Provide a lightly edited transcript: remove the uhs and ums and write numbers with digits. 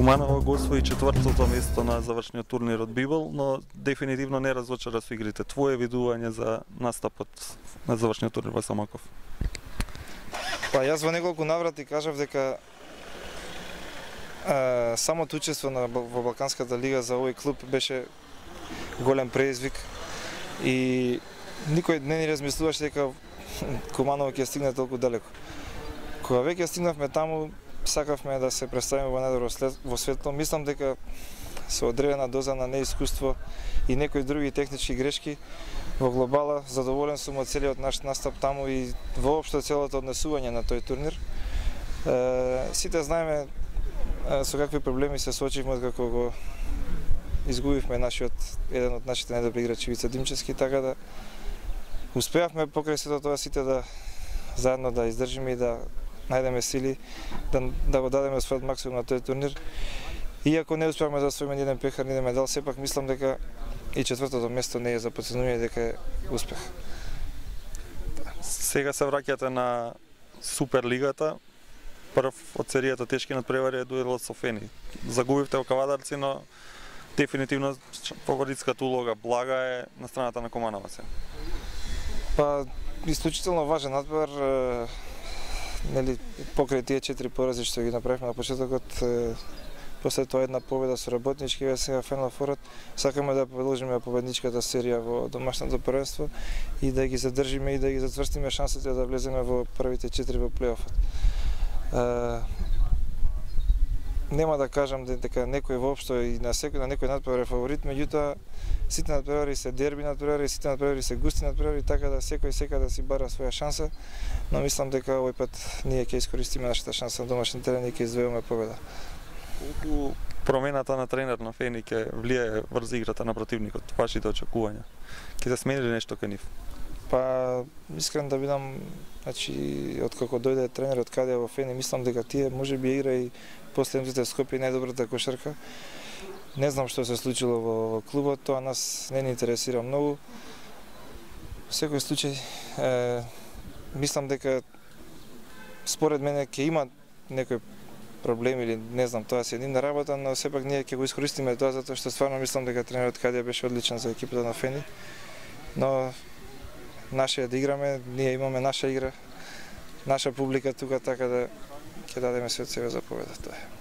Куманово го освои четвртото место на завршниот турнир од Бибол, но дефинитивно не разочара со игрите. Твое видување за настапот на завршниот турнир во Самоков? Па јас во неколку наврати кажав дека самото учество во Балканската лига за овој клуб беше голем преизвик и никој не ни размислуваше дека Куманово ќе стигне толку далеко. Кога веќе стигнавме таму, сакавме да се представиме во најдобро во светло. Мислам дека со одредена доза на неискуство и некои други технички грешки во глобала задоволен сум од целиот наш настап таму и воопшто целото однесување на тој турнир. Сите знаеме со какви проблеми се соочивме откако го изгубивме еден од нашите најдобри играчи Вица Димчевски, така да успеавме покрај сето тоа сите да заедно да издржиме и да најдеме сили да го дадеме својот максимум на тој турнир. Иако не успеавме да освоиме ни еден пехар, ни еден медал, сепак мислам дека и четвртото место не е за потценување, дека е успех. Сега се враќате на Суперлигата. Прв од серијата тешки надпревари е дуелот со Фени. Загубивте во Кавадарци, но дефинитивно фаворитската улога блага е на страната на Куманово. Па, исклучително важен надпревар, нели, покрај тие 4 порази што ги направивме на почетокот, после тоа една победа со работнички, сега Фенал Форот, сакаме да продолжиме победничката серија во домашното првенство и да ги задржиме и да ги затврстиме шансите да влеземе во првите 4 во плейофот. Нема да кажам дека некој воопшто и на некој надпревар е фаворит, меѓутоа сите надпревари се дерби надпревари, сите надпревари се густи надпревари, така да секој сека да си бара своја шанса, но мислам дека овој пат ние ќе искористиме нашата шанса на домашен терен и ќе извојуваме победа. Колку промената на тренер на Фени ќе влијае врз играта на противникот, вашите очекувања? Ќе се смени ли нешто кај нив? Па, искрен да бидам, значи, откако дојде тренерот каде во Фени, мислам дека тие можеби игра и последните Скопје најдобрата кошарка. Не знам што се случило во клубот, тоа нас не ни интересира многу. Во секој случај, мислам дека според мене ќе има некој проблем или не знам, тоа се едина работа, но сепак ние ќе го искористиме тоа затоа што стварно мислам дека тренерот Кадија беше одличен за екипата на Фени. Но наше е да играме, ние имаме наша игра, наша публика тука, така да ќе дадеме све од себе за победа, тоа е.